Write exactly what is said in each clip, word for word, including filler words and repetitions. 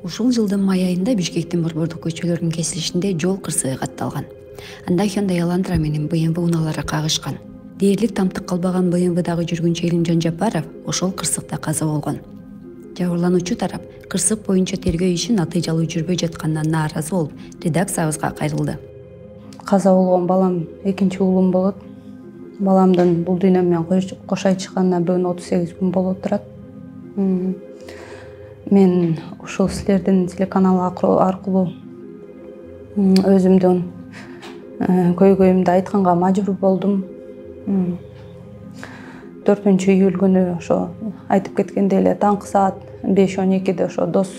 Ушул жылдын май айында Бишкектин борбордук көчөлөрүнүн кесилишинде жол кырсыгы катталган. Анда Hyundai Elantra менен бэ эм вэ унаалары кагышкан. Дээрлик тамтык калбаган бэ эм вэ-дагы жүргүнчү Элим Жанжапаров ошол кырсыкта каза болгон. Жабырлануучу тарап кырсык боюнча тергөө иши натыйжалуу жүрбөй жатканына нааразы болуп, редакциябызга кайрылды. Каза болгон балам экинчи уулум болот. Баламдын бул дүйнө менен кош айтышканына бүгүн отуз сегиз күн болуп турат. Мен ушул силердин телеканал аркылуу өзүмдүн көйгөйүмдү айтканга мажбур болдум. төртүнчү июль күнү ошо айтып кеткендей эле таңкы саат беш он экиде ошо дос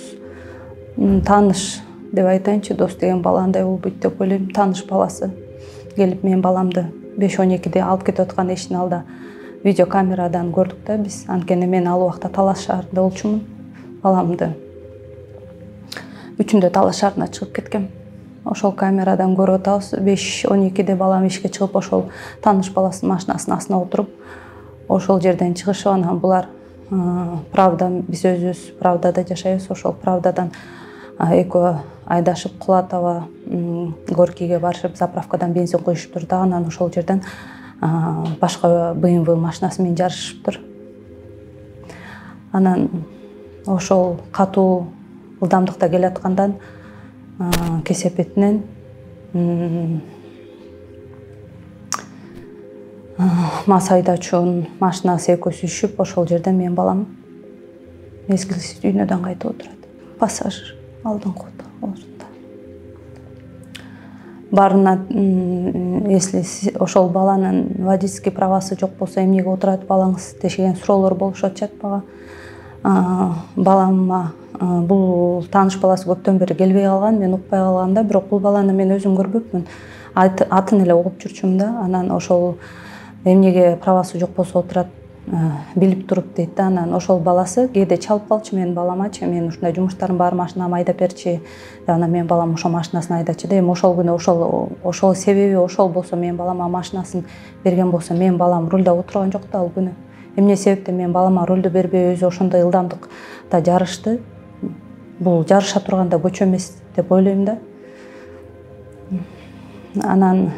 тааныш деп айтайынчы, дос деген бала андай болбойт деп ойлойм. Тааныш баласы келип менин баламды беш он экиде алып кетип аткан эшиктин алдында видеокамерадан көрдүк да биз. Анткени мен ал убакта Талаш шаарында болчумун. Баламды үчүндө Талаш шаарына чыгып кеткем. Ошол камерадан көрүп атабыз. беш он экиде балам эшикке чыгып ошол тааныш баласынын машинасынын астына отуруп ошол жерден чыгышып, анан булар Правда, биз өзүбүз Правдада жашайбыз. Ошол Правдадан экөө айдашып Кулатова Горкийге барышып, заправкадан бензин куюшуптур да, анан ошол жерден башка бэ эм вэ машинасы менен жарышыптыр. Анан ошол катуу ылдамдыкта келаткандан кесепетинен мас айдоочунун машинасы экөөсү үшүп, ошол жерден менин балам мезгилсиз дүйнөдөн кайтып отурат. Пассажир алдыңкы орунда. Барына, если ошол баланын водительский правасы жок болсо эмнеге отурат балаңыз деген суроолор болушуп атышат мага. Балама бул тааныш баласы көптөн бери келбей калган, мен укпай калгам да, бирок бул баланы мен өзүм көрбөпмүн. Атын эле угуп жүрчүмүн да. Анан ошол эмнеге правасы жок болсо отурат билип туруп дейт да. Анан ошол баласы кээде чалып калчы менин баламачы, мен ушундай жумуштарым бар, машинамы айдап берчи. Анан менин балам ошол машинасын айдачы да. Эми ошол күнү ошол ошол себеби ошол болсо, менин балама машинасын берген болсо, менин балам рулда отурган жок да ал күнү. Эмне себептен менин балама рулду бербей өзү ошондой ылдамдыкта жарышты? Бул жарыша турганда көчө эмес деп ойлойм да. Анан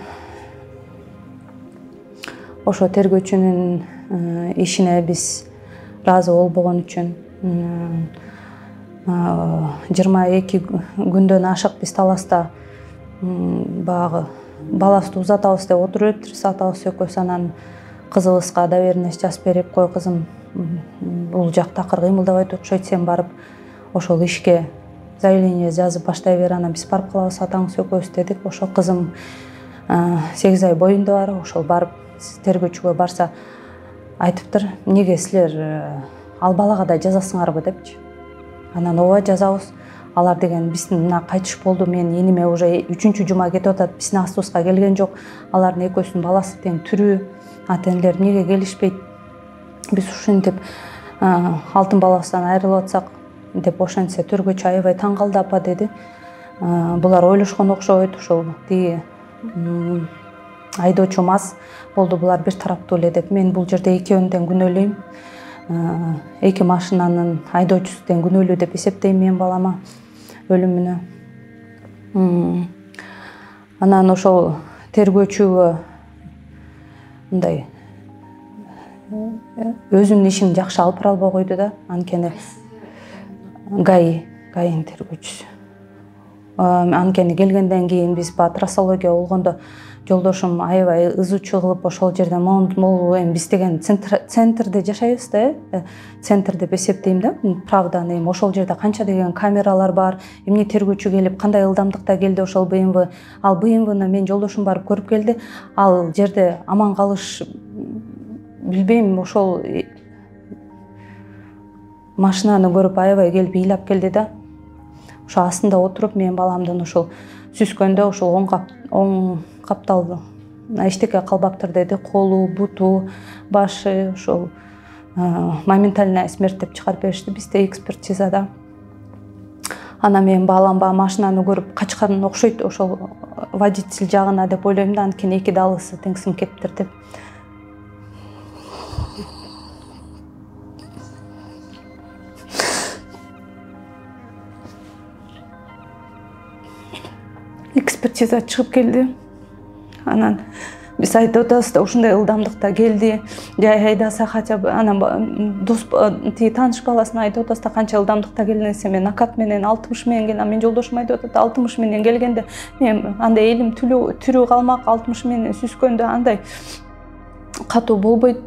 ошо тергөөчүнүн ишине биз ыраазы болбогон үчүн жыйырма эки күндөн ашык биз Таласта баягы баласты узатабыз деп отуруп өттүрүбүз атабыз экөөбүз. Анан кызыбызга доверенность жазып берип, кой кызым, бул жак такыр кыймылдабайт окшойт, сен барып ошол ишке заявление жазып баштай бер, анан биз барып калабыз атаңыз экөөбүз дедик. Ошол кызым сегиз ай боюнда бар, ошол барып тергөөчүгө барса айтыптыр, эмнеге силер ал балага да жазасыңарбы депчи. Анан ооба жазабыз. Алар деген биздин мына кайтыш болду, менин иниме уже үчүнчү жума кетип атат, биздин астыбызга келген жок. Алардын экөөсүнүн баласы тең тирүү. Ата энелер эмнеге келишпейт? Биз ушинтип алтын баласынан айрылып атсак деп ошентсе, тергөөчү аябай таң калды апа деди. Булар ойлошкон окшойт, ошол тиги айдоочу мас болду, булар бир тараптуу эле деп. Мен бул жерде экөөнү тең күнөөлөйм. Эки машинанын айдоочусу тең күнөөлүү деп эсептейм менин балама өлүмүнө. Анан ошол тергөөчүгө мындай өзүнүн ишин жакшы алып бара албай койду да. Анткени ГАИ, ГАИнин тергөөчүсү. Анткени келгенден кийин биз ба трассология болгондо жолдошум аябай ызычуу кылып ошол жерден могул, эми биз деген центрде жашайбыз да, э центр деп эсептейм да. Правданы эми ошол жерде канча деген камералар бар, эмне тергөөчү келип кандай ылдамдыкта келди ошол бэ эм вэ. Ал бэ эм вэни мен жолдошум барып көрүп келди. Ал жерде аман калыш билбейм, ошол машинаны көрүп аябай келип ыйлап келди да. Ошо астында отуруп менин баламдын ошол сүзгөндө ошол оң кап оң капталды эчтеке калбаптыр деди. Колу, буту, башы ошол моментальная смерть деп чыгарып беришти бизде экспертизада. Анан менин балам баягы машинаны көрүп качкан окшойт ошол водитель жагына деп ойлойм да, анткени эки далысы тең сиңип кетиптир деп. экспертиза чыгып келди. Анан биз айтып атабыз да ушундай ылдамдыкта келди. Жай айдаса хотя бы анан дос тиги тааныш баласына айтып атабыз да канча ылдамдыкта келдиң десе мен накат менен алтымыш менен келдим. Мен жолдошум айтып атат алтымыш менен келгенде мен андай элим тирүү тирүү калмак алтымыш менен сүзгөндө андай катуу болбойт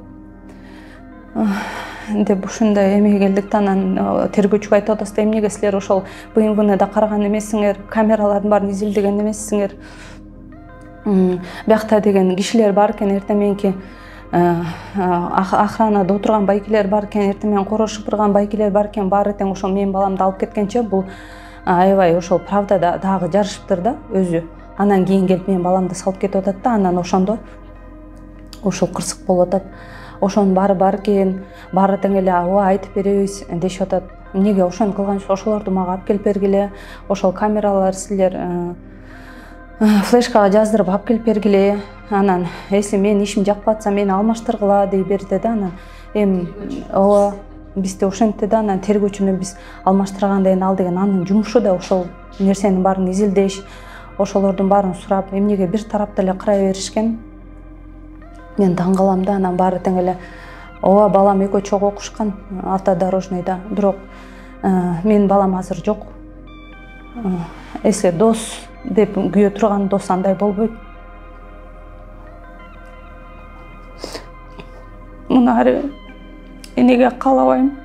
деп ушундай эме келдик да. Анан тергөөчүгө айтып атабыз да эмнеге силер ошол БМВны да караган эмессиңер, камералардын баарын изилдеген эмессиңер, биякта деген кишилер бар экен, эртең мененки охранада отурган байкелер бар экен, эртең менен короз шыпырган байкелер бар экен, баары тең ошол менин баламды алып кеткенче бул аябай ошол правдада дагы жарышыптыр да өзү. Анан кийин келип менин баламды салып кетип атат да, анан ошондо ошол кырсык болуп атат. Ошонун баары бар экен, баары тең эле ооба айтып беребиз дешип атат. Эмнеге ошону кылганчы ошолорду мага алып келип бергиле, ошол камералар силер флешкага жаздырып алып келип бергиле. Анан если менин ишим жакпай атса мени алмаштыргыла дей берди да. Анан эми ооба бизде ошентти да. Анан тергөөчүнү биз алмаштырганда эми ал деген анын жумушу да ошол нерсенин баарын изилдеш, ошолордун баарын сурап, эмнеге бир тараптуу эле карай беришкен. Мен таң калам да. Анан баары тең эле ооба балам экөө чогуу окушкан автодорожныйда, бирок менин балам азыр жок. Если дос деп күйө турган дос андай болбойт. Мунары энеге каалабайм.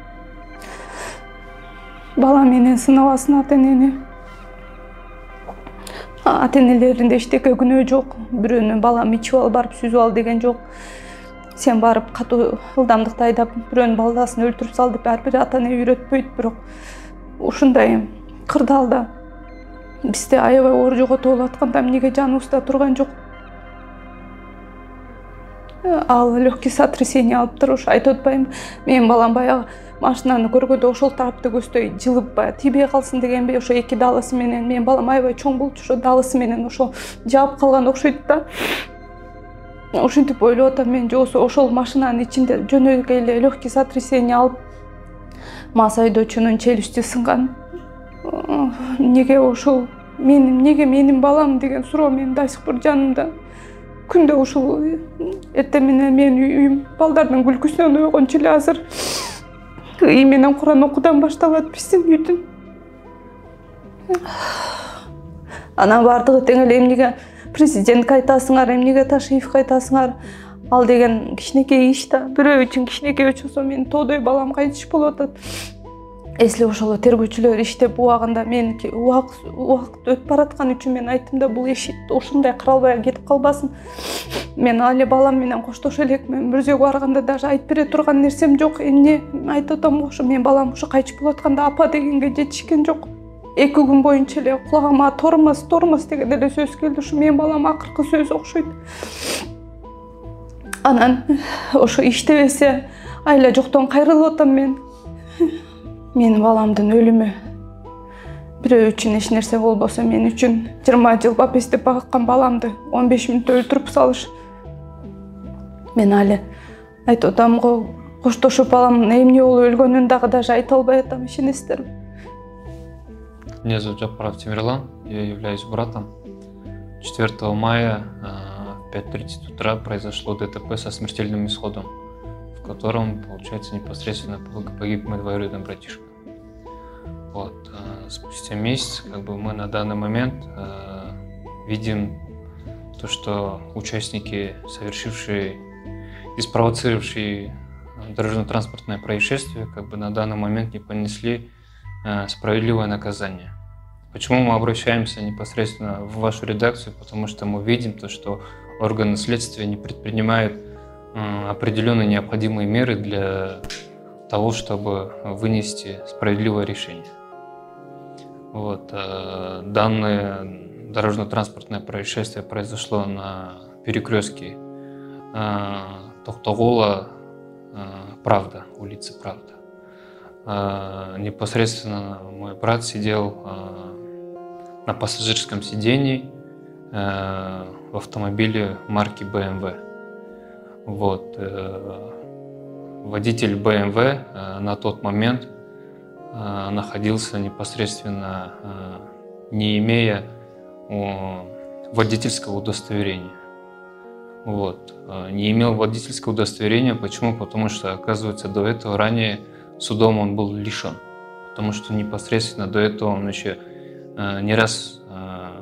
Бала менен сынабасын ата-энени. Ата-энелеринде эчтеке күнөө жок. Бирөөнү балам ичип алып барып сүзүп ал деген жок. Сен барып катуу ылдамдыкта айдап бирөөнүн баласын өлтүрүп сал деп ар бир ата-эне үйрөтпөйт, бирок ушундай кырдаалда бизде аябай оор жоготуп болуп атканда эмнеге жаныбызда турган жок. Ал легкий сотрясение алыптыр, ушу айтып атпаймынбы? Менин балам баягы машинаны көргөндө ошол тарапты көздөй жылып баягы тийбей калсын дегенби, ошо эки далысы менен. Менин балам аябай чоң болчу, ошо далысы менен ошол жаап калган окшойт да. Ошентип ойлоп атам мен, жоксо ошол машинанын ичинде жөнөкөй эле легкий сотрясение алып мас айдоочунун челюсти сынган. Неге ошол менин, неге менин балам деген суроо менин до сих пор жанымда. Күндө ушул эртең менен менин үйүм балдардын күлкүсүнөн ойгончу эле азыр үй менен Куран окуудан башталат биздин үйдүн. Анан баардыгы тең эле эмнеге президентке айтасыңар, эмнеге Ташиевке айтасыңар? Ал деген кичинекей иш да. Бирөө үчүн кичинекей өчүсө менин тоодой балам кайтыш болуп атат. Если ошол тергөөчүлөр иштеп убагында меники убакыт өтүп бараткан үчүн мен айттым да, бул иш ушундай каралбай кетип калбасын. Мен али балам менен коштошо элекмин. Мурзөөгө барганда даже айтып бере турган нерсем жок. Эмне айтып атам, ошо менин балам ушу кайтып болуп атканда апа дегенге жетишкен жок. Эки күн боюнча эле кулагыма тормоз, тормоз деген эле сөз келди. Ушу менин балам акыркы сөз окшойт. Анан ошо иштебесе айла жоктон кайрылып атам мен. Менин баламдын өлүмү бирөө үчүн эч нерсе болбосо, мен үчүн жыйырма жыл бапестеп багыккан баламды он беш мүнөттө өлтүрүп салыш. Мен али айтып атам го, коштошуп баламдын эмне болуп өлгөнүн дагы даже айта албай атам, ишенесиздерби? Меня зовут Жапаров Тимирлан, я являюсь братом. четвёртого мая в пять тридцать утра произошло ДТП со смертельным исходом, в котором, получается, непосредственно погиб мой двоюродный братишка. Вот. Спустя месяц как бы, мы на данный момент э, видим то, что участники, совершившие и спровоцировавшие дорожно-транспортное происшествие, как бы, на данный момент не понесли э, справедливое наказание. Почему мы обращаемся непосредственно в вашу редакцию? Потому что мы видим то, что органы следствия не предпринимают э, определенные необходимые меры для того, чтобы вынести справедливое решение. Вот, э, данное дорожно-транспортное происшествие произошло на перекрестке э, Токтогола, э, Правда, улица Правда. Э, непосредственно мой брат сидел э, на пассажирском сидении э, в автомобиле марки бэ эм вэ. Вот, э, водитель бэ эм вэ э, на тот момент находился непосредственно, не имея водительского удостоверения. Вот. Не имел водительского удостоверения. Почему? Потому что, оказывается, до этого ранее судом он был лишен. Потому что непосредственно до этого он еще не раз,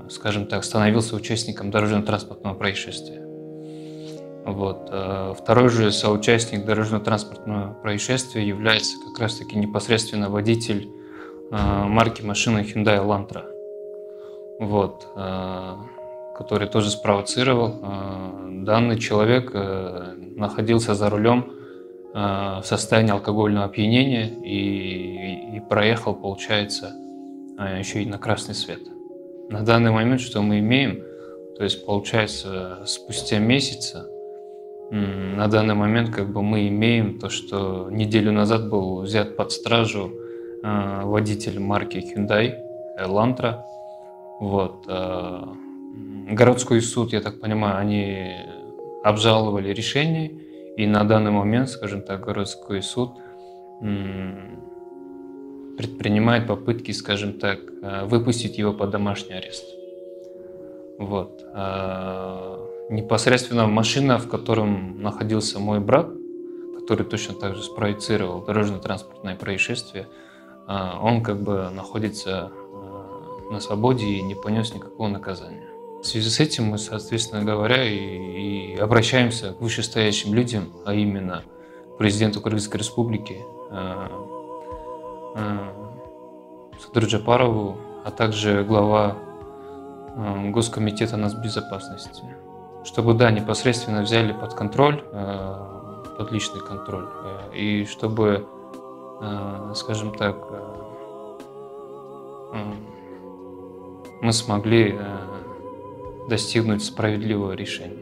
скажем так, становился участником дорожно-транспортного происшествия. Вот. Второй же соучастник дорожно-транспортного происшествия является как раз-таки непосредственно водитель марки машины Hyundai Elantra, вот, который тоже спровоцировал. Данный человек находился за рулем в состоянии алкогольного опьянения и, и проехал, получается, еще и на красный свет. На данный момент, что мы имеем, то есть, получается, спустя месяца, на данный момент как бы мы имеем то, что неделю назад был взят под стражу э, водитель марки Hyundai Elantra. Вот. Э, городской суд, я так понимаю, они обжаловали решение, и на данный момент, скажем так, городской суд э, предпринимает попытки, скажем так, э, выпустить его под домашний арест. Вот. Э, Непосредственно машина, в котором находился мой брат, который точно так же спроецировал дорожно-транспортное происшествие, он как бы находится на свободе и не понес никакого наказания. В связи с этим мы, соответственно говоря, и, и обращаемся к вышестоящим людям, а именно президенту Кыргызской Республики Садыру Жапарову, а также глава Госкомитета нацбезопасности, чтобы, да, непосредственно взяли под контроль, под личный контроль, и чтобы, скажем так, мы смогли достигнуть справедливого решения.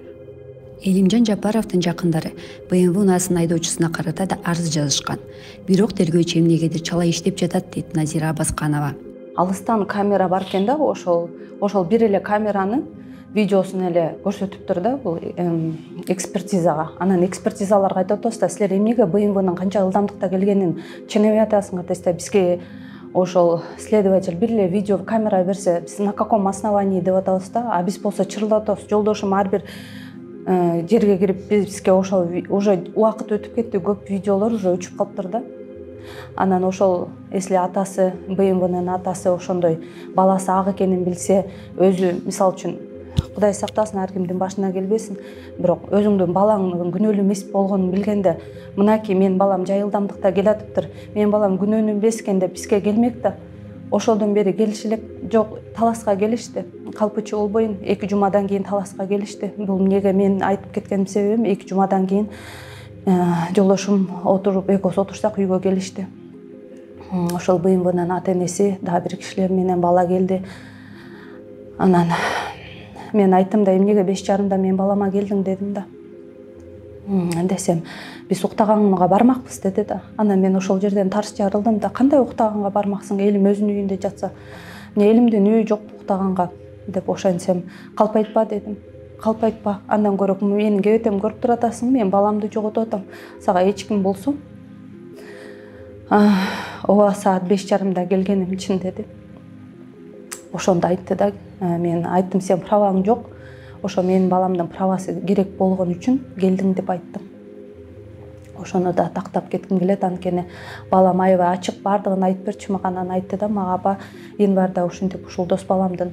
Элимжан Жапаровдун жакындары бэ эм вэ унаасын айдоочусуна карата да арыз жазышкан. Бирок тергөөчү эмнегедир чала иштеп жатат дейт Назира Абасканова. Алыстан камера бар экен да, ошол ошол бир эле камеранын видеосун эле көрсөтүптүр да, бул экспертизага. Анан экспертизаларга айтып атабыз да, силер эмнеге бэ эм вэнин канча ылдамдыкта келгенин ченебей атасыңар десе, бизге ошол следователь бир эле видео камера берсе, биз на каком основании деп атабыз да, а биз болсо чырылдатабыз. Жолдошум ар бир жерге кирип бизге ошол уже убакыт өтүп кетти, көп видеолор уже өчүп калыптыр да. Анан ошол эсли атасы, бэ эм вэнин атасы ошондой баласы ак экенин билсе, өзү мисалы үчүн Кудай сактасын, ар кимдин башына келбесин, бирок өзүңдүн балаңдын күнөөлүү эмес болгонун билгенде, мынакей менин балам жай ылдамдыкта келатыптыр, менин балам күнөөнү эмес экен деп бизге келмек да. Ошолдон бери келиш элек жок, таласка келишти. Калпычы болбойн, эки жумадан кийин таласка келишти. Бул эмнеге мен айтып кеткеним себебим, эки жумадан кийин жолдошум отуруп, экөөсү отурсак үйгө келишти. Ошол бэ эм вэнин ата энеси, дагы бир кишилер менен бала келди. Анан мен айттым да, эмнеге беш жарымда мен балама келдиң дедим да. Десем, биз уктаганга бармакпыз деди да. Анан мен ошол жерден тарс жарылдым да, кандай уктаганга бармаксың, элим өзүнүн үйүндө жатса, эмне элимдин үйү жок уктаганга деп ошентсем, калпайтпа дедим. Калпайтпа, андан көрө менин кебетем көрүп туратасың, мен баламды жоготуп атам, сага эч ким болсо ооба саат беш жарымда келгеним чын деди. Ошондо айтты да, мен айттым, сен праваң жок, ошо менин баламдын правасы керек болгон үчүн келдиң деп айттым. Ошону да тактап кетким келет, анткени балам аябай ачык бардыгын айтып берчү мага. Анан айтты да мага, аба, январда ушинтип ушул дос баламдын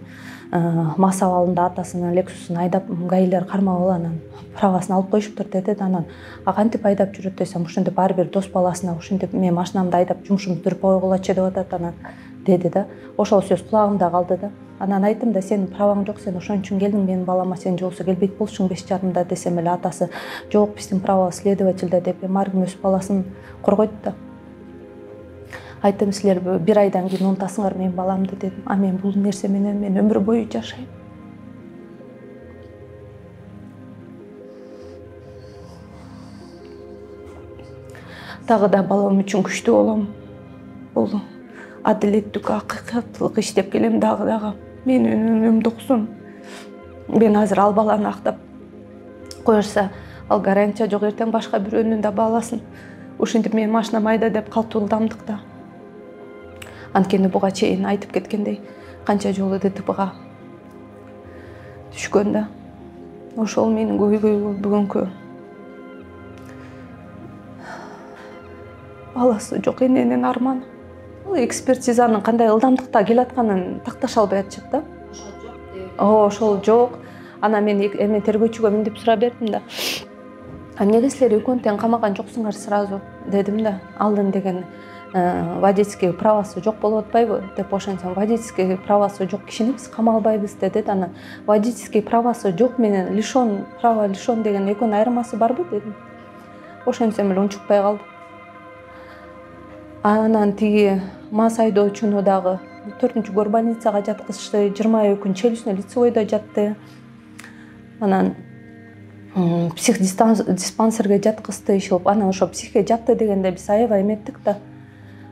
мас абалында атасынын Лексусун айдап гаилер кармап алып, правасын алып коюшуптур деди да. Анан а кантип айдап жүрөт десем, ушинтип ар бир дос баласына ушинтип мен машинамды айдап жумушумду бүтүрүп койгулачы деп атат анан деди да. Ошол сөз кулагымда калды да. Анан айттым да, сенин праваң жок, сен ошон үчүн келдиң менин балама, сен жолсу келбейт болчуң беш жарымда десем эле атасы, жок, биздин правабыз следовательде деп ар ким өз баласын коргойт да. Айттым, силер бир айдан кийин унутасыңар менин баламды дедим. А мен бул нерсе менен мен өмүр бою жашайм. Дагы да балам үчүн күчтүү болом. Бул адилеттик, акыйкаттылык иштеп келем дагы дагы. Менин өнүмдү уксун. Мен азыр ал баланы актап коюшса, ал гарантия жок, эртең башка бирөөнүн да баласын ушинтип мен машинам айда деп калптуу ылдамдыкта. Анткени буга чейин айтып кеткендей, канча жолу ДТПга түшкөн да. Ошол менин көйгөйгө бүгүнкү баласы жок эненин арманы. Экспертизанын кандай ылдамдыкта келатканын такташа албай атышат да. Ошол ошол жок. Анан мен эми тергөөчүгө мынтип сурап бердим да. Эмнеге силер экөөнү тең камаган жоксуңар сразу дедим да. Алдын деген водительский правасы жок болуп атпайбы деп ошентсем, водительский правасы жок кишини биз камалбайбыз деди. Анан водительский правасы жок менен лишен права лишен деген экөөнүн айырмасы барбы дедим. Ошентсем эле унчукпай калды. Анан тиги мас айдоочуну дагы төртүнчү горбольницага жаткызышты, жыйырма күн челюстный лицевойдо жатты. Анан психдиспансерге жаткызды ишилип, анан ошо психке жатты дегенде биз аябай эметтик да.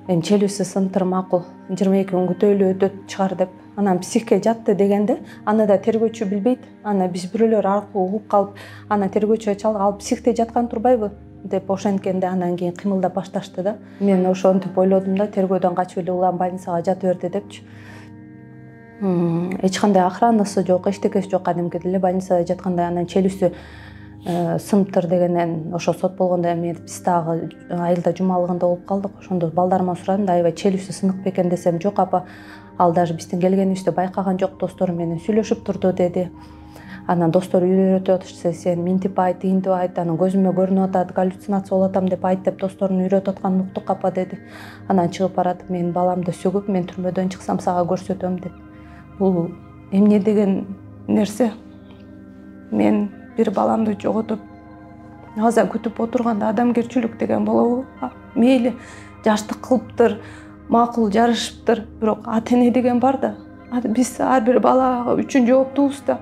Эми челюсти сынтыр макул, жыйырма эки күн күтөөлү өтөт чыгар деп. Анан психке жатты дегенде аны да тергөөчү билбейт. Аны биз бирөөлөр аркылуу угуп калып, анан тергөөчүгө чалып, ал психте жаткан турбайбы деп ошенткенде анан кийин кыймылдап башташты да. Мен ошентип ойлодум да, тергөөдөн качып эле улам больницага жата берди депчи. Эч кандай охранасы жок, эчтекеси жок, кадимкидей эле больницада жатканда. Анан челюстү сымтыр дегенен ошо сот болгондо эми биз дагы айылда жумалыгында болуп калдык. Ошондо балдарыма сурадым да, аябай челюстү сынык бекен десем, жок апа, ал даже биздин келгенибизди байкаган жок, достору менен сүйлөшүп турду деди. Анан достору үйрөтүп атышты, сен минтип айт, тигинтип айт, анан көзүмө көрүнүп атат, галлюцинация болуп атам деп айт деп досторун үйрөтүп атканын уктук апа деди. Анан чыгып баратып, мен баламды сөгүп, мен түрмөдөн чыксам сага көрсөтөм деп. Бул эмне деген нерсе? Мен бир баламды жоготуп, аза күтүп отурганда адамгерчилик деген болобу? Мейли жаштык кылыптыр, макул жарышыптыр, бирок ата эне деген бар да. Биз ар бир бала үчүн жооптубуз да.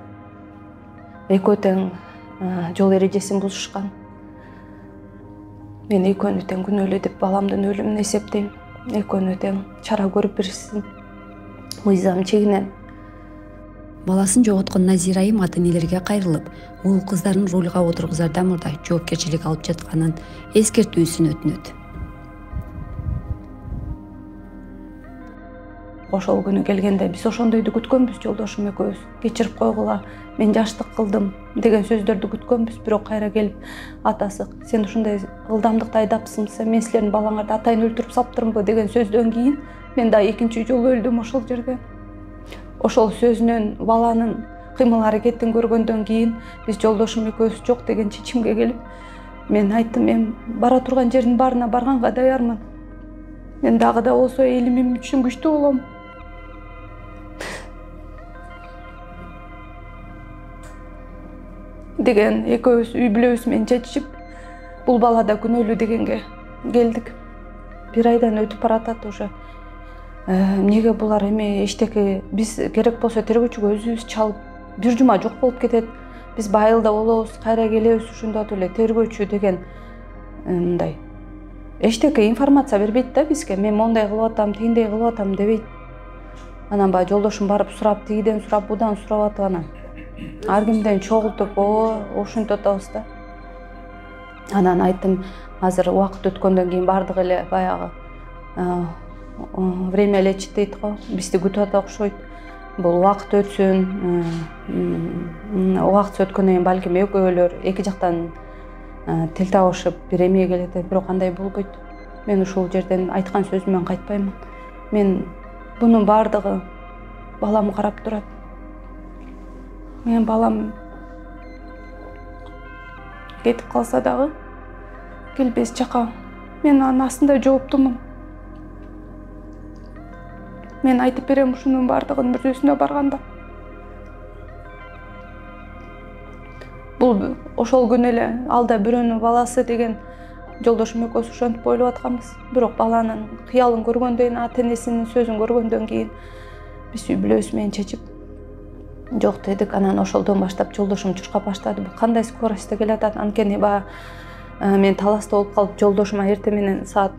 Экөө тең жол эрежесин бузушкан. Мен экөөнү тең күнөөлүү деп баламдын өлүмүн эсептейм. Экөөнү тең чара көрүп беришсин. Мыйзам чегинен. Баласын жоготкон Назира айым ата энелерге кайрылып, уул кыздарын рулга отургузардан мурда жоопкерчилик алып жатканын эскертүүсүн өтүнөт. Ошол күнү келгенде биз ошондойду күткөнбүз, жолдошум экөөбүз. Кечирип койгула, мен жаштык кылдым деген сөздөрдү күткөнбүз, бирок кайра келип атасы, сен ушундай ылдамдыкта айдапсың, мен силердин балаңарды атайын өлтүрүп салыптырмбы деген сөздөн кийин мен да экинчи жолу өлдүм ошол жерде. Ошол сөзүнөн баланын кыймыл аракетин көргөндөн кийин биз жолдошум экөөбүз жок деген чечимге келип, мен айттым, мен бара турган жердин баарына барганга даярмын. Мен дагы да болсо элимим үчүн күчтүү болом. Деген экөөбүз үй бүлөбүз менен чечип, бул бала да күнөөлүү дегенге келдик. Бир айдан өтүп баратат уже. Эмнеге булар эми эчтеке, биз керек болсо тергөөчүгө өзүбүз чалып, бир жума жок болуп кетет. Биз байылда болобуз, кайра келебиз, ушундатып эле тергөөчү деген мындай эчтеке информация бербейт да бизге. Мен мондай кылып атам, тигиндей кылып атам дебейт. Анан баягы жолдошум барып сурап, тигиден сурап, будан сурап атып анан ар кимден чогултуп, о, ошентип атабыз да. Анан айттым, азыр убакыт өткөндөн кийин бардык эле баягы время лечит дейт го, бизди күтүп атат окшойт. Бул убакыт өтсүн, убакыт өткөндөн кийин балким экөөлөр эки жактан тил табышып бир эмеге келет, бирок андай болбойт. Мен ушул жерден айткан сөзүмөн кайтпаймын. Мен бунун бардыгы балам карап турат. Мен балам кетип калса дагы келбес жака. Мен анын астында жооптумун. Мен айтып берем ушунун бардыгын мүрзөсүнө барганда. Бул ошол күнү эле алда бирөөнүн баласы деген жолдошум экөөбүз ошентип ойлоп атканбыз. Бирок баланын кыялын көргөндөн кийин, ата энесинин сөзүн көргөндөн кийин биз үй бүлөбүз менен чечип жок дедик. Анан ошолдон баштап жолдошум чуркап баштады. Бул кандай скоростьта келатат? Анткени баягы мен таласта болуп калып, жолдошума эртең менен саат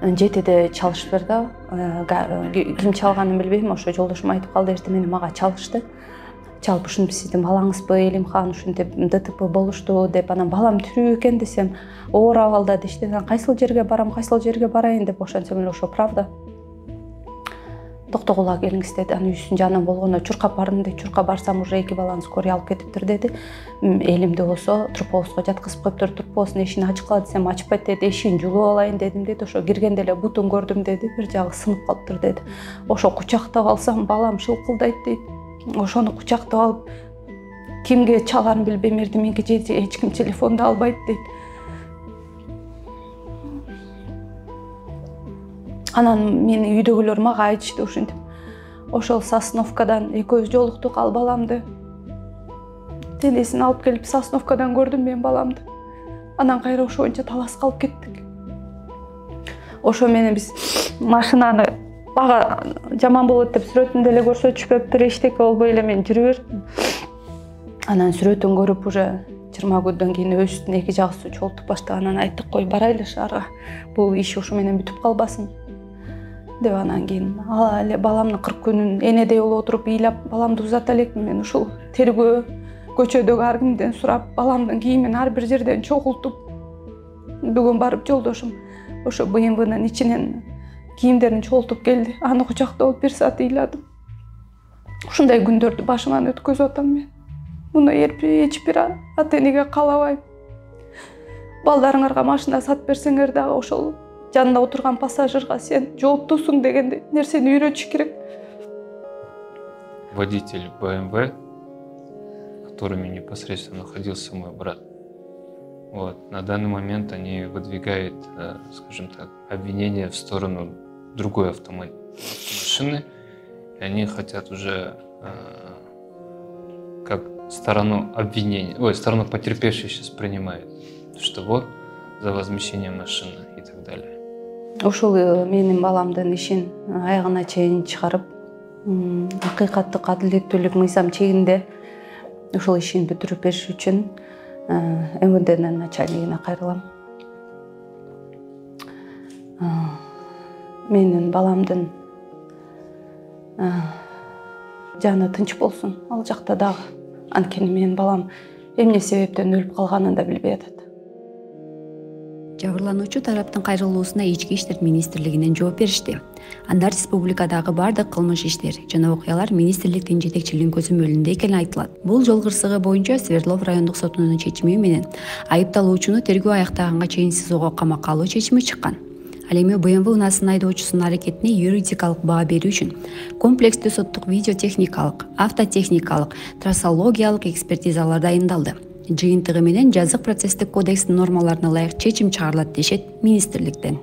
жетиде чалышып берди. Ким чалганын билбейм, ошо жолдошум айтып калды, эртең менен мага чалышты. Чалып, ушинтип сиздин балаңызбы, Элимхан, ушинтип ДТП болушту деп. Анан балам тирүү экен десем, оор абалда дешти. Кайсыл жерге барам, кайсыл жерге барайын деп ошентсем эле ошо правда. токтогула келиңиз деди. Анын үйүсүнүн жанынан болгондо чуркап бардым деди. Чуркап барсам уже эки баланы скорый алып кетиптир деди. Элимде болсо трубовозго жаткызып коюптур. Трубовоздун эшигин ачкыла десем ачпайт деди. Эшигин жулуп алайын дедим деди. Ошо киргенде эле бутун көрдүм деди. Бир жагы сынып калыптыр деди. Ошо кучактап алсам балам шылкылдайт дейт. Ошону кучактап алып кимге чаларын билбейм, эрдеминки эч ким телефонду албайт дейт. Анан менин үйдөгүлөр мага айтышты ушинтип. Ошол Сосновкадан экөөбүз жолуктук, ал баламды денесин алып келип Сосновкадан көрдүм мен баламды. Анан кайра ошо боюнча таласка алып кеттик. Ошо менен биз машинаны бага жаман болот деп сүрөтүндө эле көрсөтүшпөптүр, эчтеке болбой эле мен жүрүп бердим. Анан сүрөтүн көрүп уже жыйырма күндөн кийин өбүстүн эки жагысы чолтуп баштаганынан айттык, кой барайлы шаарга. Бул иш ошо менен бүтүп калбасын деп. Анан кийин ала эле баламдын кырк күнүн энедей болуп отуруп ыйлап баламды узата элекмин. Мен ушул тергөө көчөдөгү ар кимден сурап, баламдын кийимин ар бир жерден чогултуп, бүгүн барып жолдошум ошо бэ эм вэнын ичинен кийимдерин чогултуп келди. Аны кучактап алып бир саат ыйладым. Ушундай күндөрдү башыман өткөзүп атам мен. Муну эч бир ата энеге каалабайм. Балдарыңарга машина сатып берсеңер дагы ошол жанында отурган пассажирга сен жооптусуң деген нерсени үйрөтүш керек. Водитель бэ эм вэ, которыми непосредственно находился мой брат, вот, на данный момент они выдвигают, скажем так, обвинения в сторону другой автомашины, и они хотят уже как сторону обвинения, ой, сторону потерпевшей сейчас принимают, что вот за возмещение машины и так далее. Ушул менин баламдын ишин аягына чейин чыгарып, акыйкаттык, адилеттүүлүк мыйзам чегинде ушул ишин бүтүрүп бериш үчүн эм вэ дэнин начальнигине кайрылам. Менин баламдын жаны тынч болсун ал жакта дагы. Анткени менин балам эмне себептен өлүп калганын да билбей атат. Жабырлануучу тараптын кайрылуусуна Ички иштер министрлигинен жооп беришти. Анда республикадагы бардык кылмыш иштер жана окуялар министрликтин жетекчилигинин көзөмөлүндө экени айтылат. Бул жол кырсыгы боюнча Свердлов райондук сотунун чечими менен айыпталуучуну тергөө аяктаганга чейин СИЗОго камакка алуу чечими чыккан. Ал эми бэ эм вэ унаасынын айдоочусунун аракетине юридикалык баа берүү үчүн комплекстүү соттук видеотехникалык, автотехникалык, трассологиялык экспертизалар дайындалды. Жыйынтыгы менен жазык процесстик кодекстин нормаларына ылайык чечим чыгарылат дешет министрликтен.